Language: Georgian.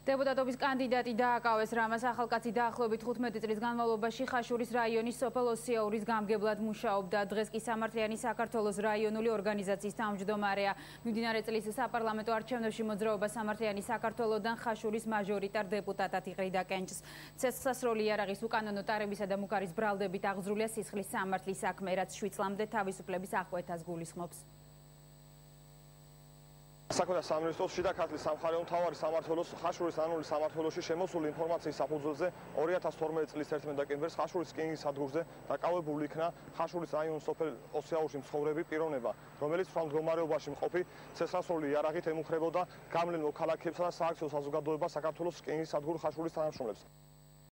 დეპუტატობის კანდიდატი დააკავეს რამას ახალკაცი დაახლოებით 15 წლის განმავლობაში ხაშურის რაიონის სოფელ ოსიაურის გამგებლად მუშაობდა. დღეს კი სამართლიანი საქართველოს რაიონული ორგანიზაციის თავმჯდომარეა. მიმდინარე წლის საპარლამენტო არჩევნებში მოძრაობა სამართლიანი საქართველოდან ხაშურის მაჟორიტარ დეპუტატად იყრიდა კენჭს. ცეცხლსასროლი იარაღის უკანონო ტარებისა და მუკარის ბრალდებით აღზრულია სისხლის სამართლის საქმე, რაც 7 წლამდე თავისუფლების აღკვეთას გულისხმობს. საქმეთა სამინისტროს შიდა ქართლის სამხარეო მთავარი სამმართველოს ხაშურის ანული სამმართველოში შემოსული ინფორმაციის საფუძველზე 2012 წლის 11 დეკემბერს ხაშურის რკინიგზის სადგურზე დაკავებული იქნა ხაშურის რაიონის სოფელ ოსიაურში მცხოვრები პიროვნება, რომელიც მდგომარეობაში მყოფი ცეცხლსასროლი იარაღით ემუქრებოდა გავლენ მოქალაქეებსა და სააქციო საზოგადოებას საქართველოს რკინიგზის სადგურ ხაშურის თანამშრომლებს.